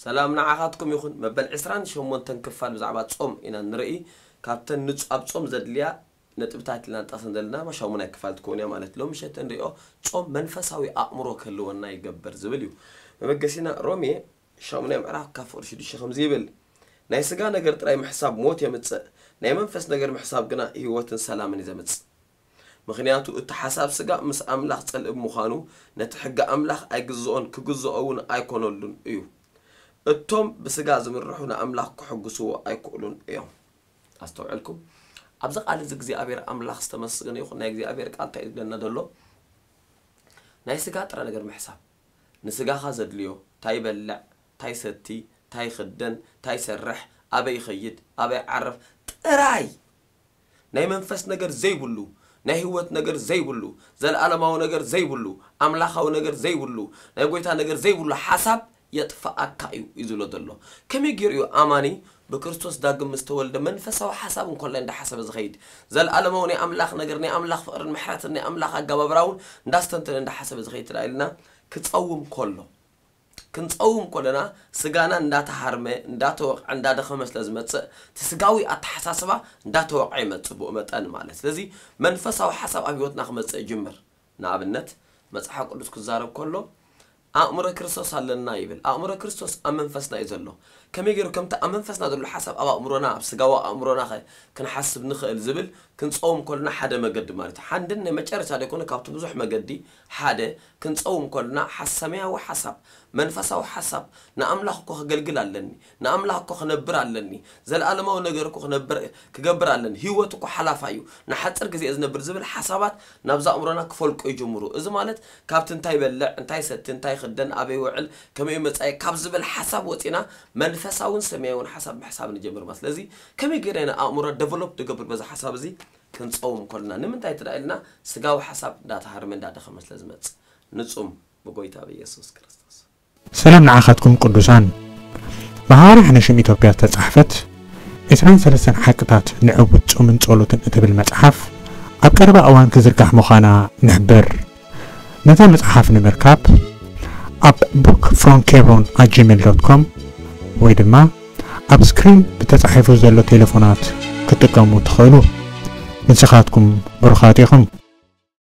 ሰላም ንዓኻትኩም ይኹን። መበል ዕስራን ሸሞንተን ክፋል ብዛዕባ ጾም ኢና ንርኢ። ካብተን ንጹ-፣ ኣብ ጾም ዘድልያ ነጥብታት ኢልና ንጠቕሰን ዘለና ሻሙናይ ክፋል ትከውን እያ ማለት። ሎም ምሸት እንሪኦ ጾም መንፈሳዊ ኣእምሮ ክህልወና ይገብር ዝብል እዩ። መበገሲና ሮሜ ሻሙናይ ምዕራፍ ካብ ፍቕዲ ሽዱሽተ ከምዚ ይብል፣ ናይ ስጋ ነገር ጥራይ ምሕሳብ ሞት የምጽእ፣ ናይ መንፈስ ነገር ምሕሳብ ግና ህይወትን ሰላምን እዩ ዘምጽእ። ምኽንያቱ እቲ ሓሳብ ስጋ ምስ ኣምላኽ ጸልእ ብምዃኑ ነቲ ሕጊ ኣምላኽ ኣይግዝኦን ክግዝኦ እውን ኣይኮነሉን እዩ። እቶም ብስጋ ዝምርሑ ንኣምላኽ ክሕግስዎ ኣይክእሉን እዮም። ኣስተውዕልኩም፣ ኣብዚ ቃል እዚ እግዚኣብሔር ኣምላኽ ዝተመስገነ ይኹን። ናይ እግዚኣብሔር ቃል እንታይ እዩ ዝብለና ዘሎ? ናይ ስጋ ጥረ ነገር ምሕሳብ፣ ንስጋኻ ዘድልዮ፣ እንታይ ይበልዕ፣ እንታይ ሰቲ፣ እንታይ ይኽደን፣ እንታይ ይሰርሕ፣ ኣበይ ይኸይድ፣ ኣበይ ዓርፍ ጥራይ፣ ናይ መንፈስ ነገር ዘይብሉ፣ ናይ ህይወት ነገር ዘይብሉ፣ ዘለዓለማዊ ነገር ዘይብሉ፣ ኣምላኻዊ ነገር ዘይብሉ፣ ናይ ጎይታ ነገር ዘይብሉ ሓሳብ የጥፍኣካ እዩ እዩ ዝብሎ ዘሎ። ከመይ ገይሩ እዩ ኣማኒ ብክርስቶስ ዳግም ምስ ተወልደ መንፈሳዊ ሓሳብ እንኮላይ እንዳሓሰበ ዝኸይድ፣ ዘለዓለማዊ ናይ ኣምላኽ ነገር፣ ናይ ኣምላኽ ፍቕርን ምሕረትን ናይ ኣምላኽ ኣገባብራ እውን እንዳስተንተነ እንዳሓሰበ ዝኸይድ ትዳ ኢልና? ክጸውም ከሎ፣ ክንጸውም ከለና ስጋና እንዳተሃርመ፣ እንዳተወቕዐ፣ እንዳደኸመ ስለ ዝመጽእ፣ እቲ ስጋዊ ኣተሓሳስባ እንዳተወቕዐ ይመጽእ ብኡ መጠን ማለት። ስለዚ መንፈሳዊ ሓሳብ ኣብ ህይወትና ክመጽእ ይጅምር። ንኣብነት መጽሓፍ ቅዱስ ክዛረብ ከሎ ኣእምሮ ክርስቶስ ኣለና ይብል። ኣእምሮ ክርስቶስ ኣብ መንፈስና እዩ ዘሎ። ከመይ ገይሩ ከምቲ ኣብ መንፈስና ዘሎ ሓሳብ ኣብ ኣእምሮና፣ ኣብ ስጋዊ ኣእምሮና ኸ ክንሓስብ ንኽእል ዝብል ክንጸውም ከለና ሓደ መገዲ ማለት እዩ። ሓንድን ናይ መጨረሻ ዘይኮነ ካብቲ ብዙሕ መገዲ ሓደ ክንጸውም ከለና ሓስ-፣ ሰማያዊ ሓሳብ፣ መንፈሳዊ ሓሳብ፣ ንኣምላኽ እኮ ከገልግል ኣለኒ፣ ንኣምላኽ እኮ ክነብር ኣለኒ፣ ዘለኣለማዊ ነገር እኮ ክነብር፣ ክገብር ኣለኒ፣ ህይወት እኮ ሓላፋ እዩ፣ ንሓጽር ግዜ እየ ዝነብር ዝብል ሓሳባት ናብዛ ኣእምሮና ክፈልቁ ይጅምሩ። እዚ ማለት ካብቲ እንታይ ይበልዕ፣ እንታይ ይሰቲ፣ እንታይ ይኽደን፣ ኣበይ ይውዕል፣ ከመይ መጻኢ ካብ ዝብል ሓሳብ ወጺና መንፈሳውን ሰማያውን ሓሳብ ምሕሳብ ንጀምር ማለት። ስለዚ ከመይ ገይረ ኢና ኣእምሮ ደቨሎፕ ንገብር በዚ ሓሳብ እዚ? ክንጸውም ከለና። ንምንታይ ትዳ ኢልና? ስጋዊ ሓሳብ እንዳተሃርመ እንዳደኸመ ስለ ዝመጽእ። ንጹም ብጎይታ ብኢየሱስ ክርስቶስ። ሰላም ንዓኻትኩም ቅዱሳን። ብሃዋርያ ሕነሽም ኢትዮጵያ ዝተጻሕፈት ዕስራን ሰለስተን ሓቅታት ንዕውት ጾምን ጸሎትን እትብል መጽሓፍ ኣብ ቀረባ እዋን ክዝርጋሕ ምዃና ንሕብር። ነዛ መጽሓፍ ንምርካብ ኣብ book from kebron at gmail dot com ወይ ድማ ኣብ ስክሪን ብተጻሒፉ ዘሎ ቴሌፎናት ክትጥቀሙ ትኽእሉ። ንስኻትኩም ብሩኻት ኢኹም።